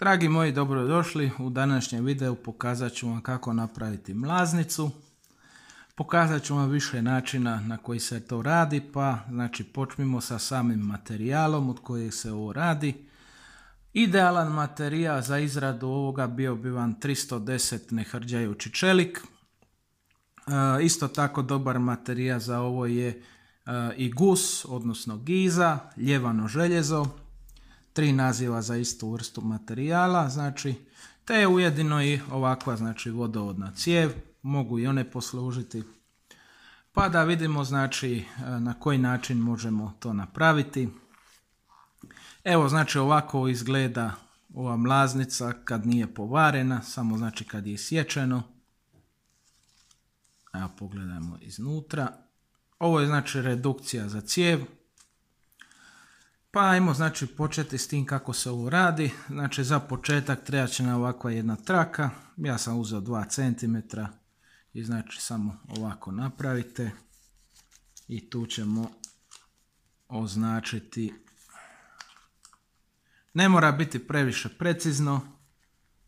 Dragi moji, dobrodošli. U današnjem videu pokazat ću vam kako napraviti mlaznicu. Pokazat ću vam više načina na koji se to radi, pa znači počnimo sa samim materijalom od kojeg se ovo radi. Idealan materijal za izradu ovoga bio bi vam 310 nehrđajući čelik. Isto tako dobar materijal za ovo je i gus, odnosno giza, ljevano željezo. 3 naziva za istu vrstu materijala, znači, te je ujedino i ovakva, znači, vodovodna cijev, mogu i one poslužiti. Pa da vidimo, znači, na koji način možemo to napraviti. Evo, znači, ovako izgleda ova mlaznica kad nije povarena, samo znači kad je isječeno. Evo, pogledajmo iznutra. Ovo je, znači, redukcija za cijev. Pa ajmo, znači, početi s tim kako se ovo radi. Znači, za početak treba će nam ovakva jedna traka. Ja sam uzeo 2 cm i znači samo ovako napravite. I tu ćemo označiti. Ne mora biti previše precizno.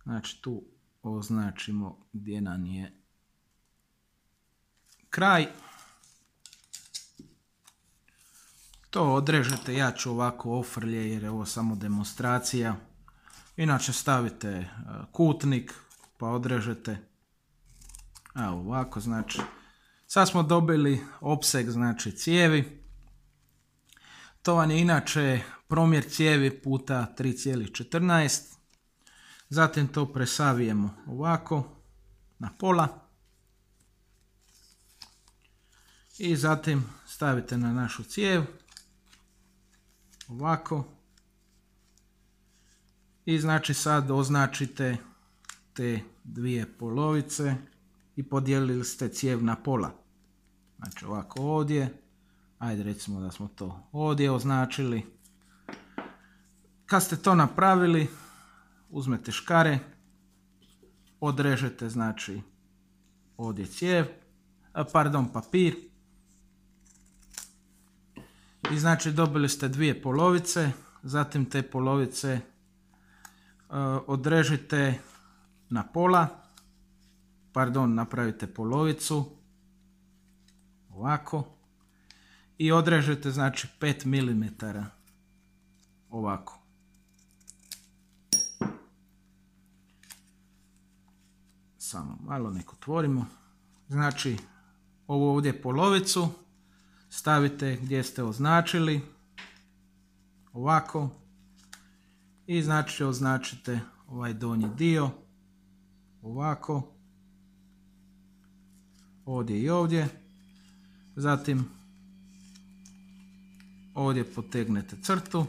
Znači, tu označimo gdje nam je kraj. To odrežete, ja ću ovako ofrlje jer je ovo samo demonstracija. Inače stavite kutnik pa odrežete. Evo ovako, znači. Sad smo dobili opseg, znači, cijevi. To vam je inače promjer cijevi puta 3,14. Zatim to presavijemo ovako na pola. I zatim stavite na našu cijev. Ovako. I znači sad označite te 2 polovice i podijelili ste cijev na pola. Znači ovako ovdje. Ajde recimo da smo to ovdje označili. Kad ste to napravili, uzmete škare, odrežete znači ovdje cijev, papir. I znači dobili ste 2 polovice, zatim te polovice odrežite na pola, napravite polovicu, ovako, i odrežete znači 5 mm, ovako. Samo malo nek otvorimo, znači ovo ovdje polovicu, stavite gdje ste označili, ovako, i znači označite ovaj donji dio, ovako, ovdje i ovdje, zatim ovdje potegnete crtu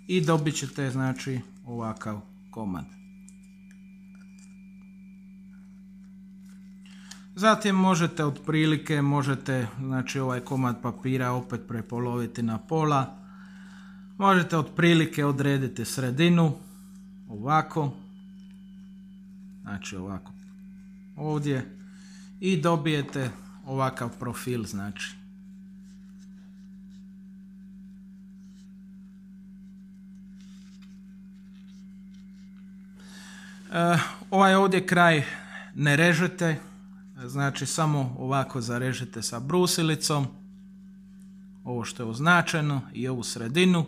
i dobit ćete znači ovakav komad. Zatim možete znači ovaj komad papira opet prepoloviti na pola. Možete otprilike odrediti sredinu, ovako, znači ovako ovdje, i dobijete ovakav profil, znači. Ovaj ovdje kraj ne režete. Znači samo ovako zarežete sa brusilicom, ovo što je označeno i ovu sredinu.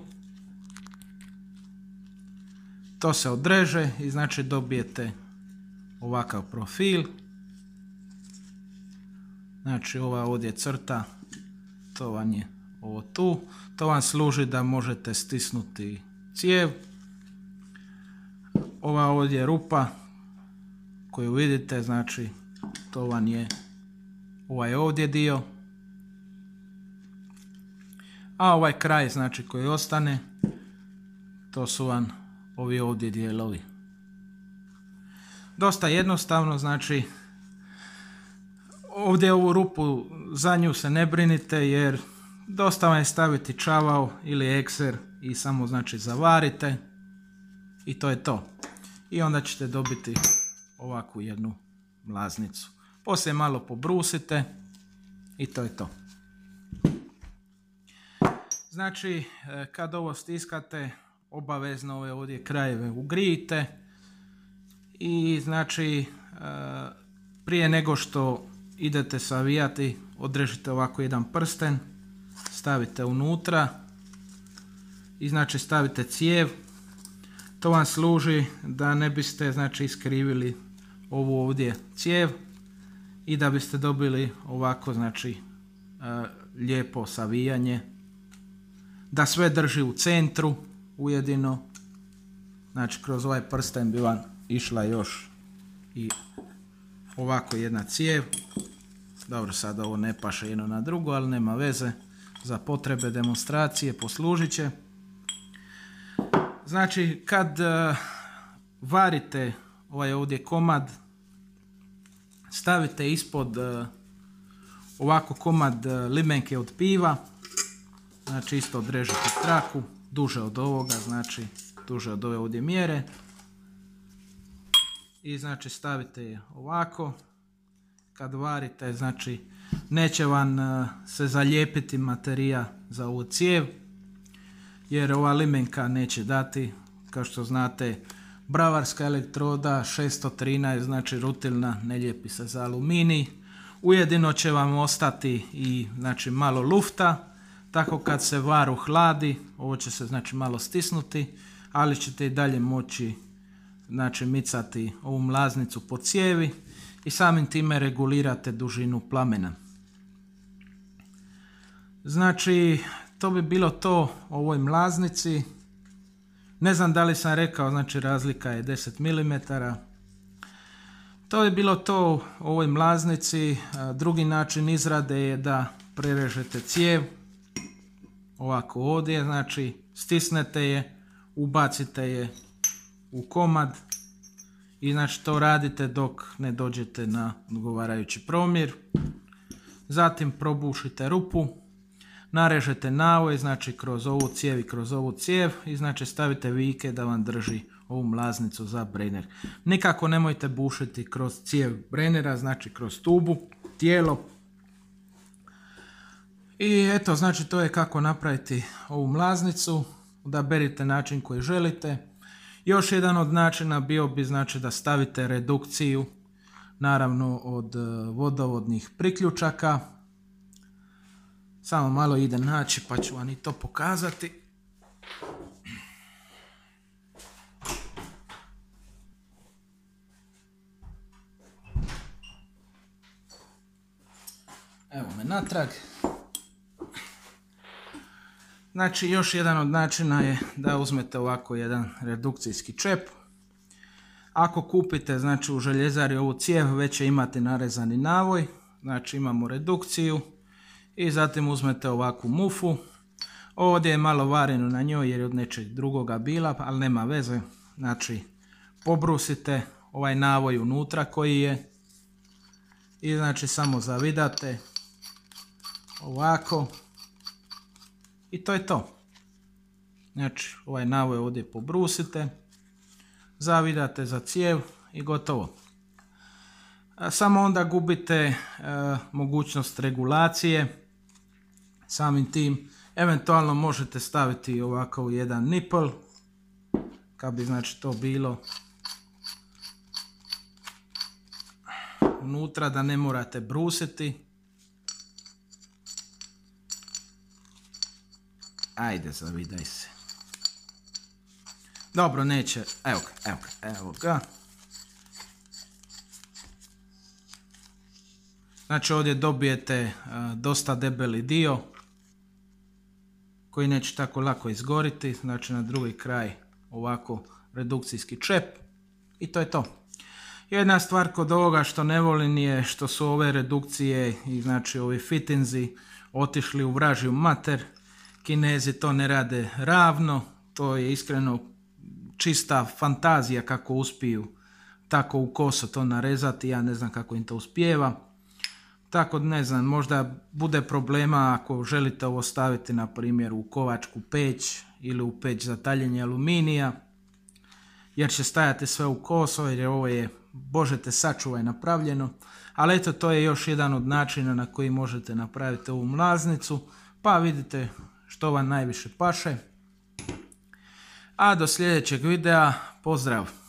To se odreže i znači dobijete ovakav profil. Znači ova ovdje crta, to vam je ovo tu. To vam služi da možete stisnuti cijev. Ova ovdje rupa koju vidite, znači to vam je ovaj ovdje dio, a ovaj kraj, znači, koji ostane, to su vam ovi ovdje dijelovi. Dosta jednostavno, znači, ovdje ovu rupu, za nju se ne brinite jer dosta vam je staviti čavao ili ekser i samo, znači, zavarite i to je to. I onda ćete dobiti ovakvu jednu mlaznicu. Poslije malo pobrusite i to je to. Znači, kad ovo stiskate, obavezno ove ovdje krajeve ugrijite i znači prije nego što idete savijati odrežite ovako jedan prsten, stavite unutra i znači stavite cijev. To vam služi da ne biste znači iskrivili ovu ovdje cijev i da biste dobili ovako znači lijepo savijanje, da sve drži u centru ujedino. Znači kroz ovaj prsten bi vam išla još i ovako jedna cijev. Dobro, sad ovo ne paše jedno na drugo, ali nema veze, za potrebe demonstracije poslužit će. Znači kad varite ovaj ovdje komad, stavite ispod ovako komad limenke od piva, znači isto odrežite traku, duže od ovoga, znači duže od ove ovdje mjere. I znači stavite je ovako. Kad varite, znači neće vam se zalijepiti materija za ovu cijev, jer ova limenka neće dati, kao što znate, bravarska elektroda 613, znači rutilna, ne lijepi se za aluminij. Ujedino će vam ostati i znači malo lufta, tako kad se var uhladi, ovo će se znači malo stisnuti, ali ćete i dalje moći znači micati ovu mlaznicu po cijevi i samim time regulirate dužinu plamena. Znači to bi bilo to o ovoj mlaznici. Ne znam da li sam rekao, znači razlika je 10 mm. To je bilo to o ovoj mlaznici. Drugi način izrade je da prerežete cijev ovako ovdje, znači stisnete je, ubacite je u komad i znači to radite dok ne dođete na odgovarajući promjer. Zatim probušite rupu, narežete navoj, znači kroz ovu cijev i kroz ovu cijev i znači stavite vijke da vam drži ovu mlaznicu za brener. Nikako nemojte bušiti kroz cijev brenera, znači kroz tubu, tijelo. I eto, znači to je kako napraviti ovu mlaznicu. Odaberite način koji želite. Još jedan od načina bio bi znači da stavite redukciju, naravno od vodovodnih priključaka. Samo malo ide naći pa ću vam i to pokazati. Evo me natrag. Znači još jedan od načina je da uzmete ovako jedan redukcijski čep. Ako kupite znači u željezari ovu cijev, već će imati narezani navoj. Znači imamo redukciju i zatim uzmete ovakvu mufu. Ovdje je malo vareno na njoj jer je od nečeg drugoga bila, ali nema veze. Znači pobrusite ovaj navoj unutra koji je i znači samo zavidate ovako. I to je to. Znači ovaj navoj ovdje pobrusite, zavidate za cijev i gotovo. Samo onda gubite mogućnost regulacije. Samim tim eventualno možete staviti ovako jedan nipl, kad bi znači to bilo unutra da ne morate brusiti. Ajde, zavidaj se. Dobro, neće. Evo ga. Znači ovdje dobijete dosta debeli dio koji neće tako lako izgoriti. Znači na drugi kraj ovako redukcijski čep i to je to. Jedna stvar kod ovoga što ne volim je što su ove redukcije i znači ovi fitinzi otišli u vražju mater. Kinezi to ne rade ravno, to je iskreno čista fantazija kako uspiju tako u koso to narezati, ja ne znam kako im to uspijeva. Tako ne znam, možda bude problema ako želite ovo staviti na primjer u kovačku peć ili u peć za taljenje aluminija, jer će stajati sve u koso jer ovo je, Bože te sačuvaj, napravljeno. Ali eto, to je još jedan od načina na koji možete napraviti ovu mlaznicu, pa vidite što vam najviše paše. A do sljedećeg videa, pozdrav!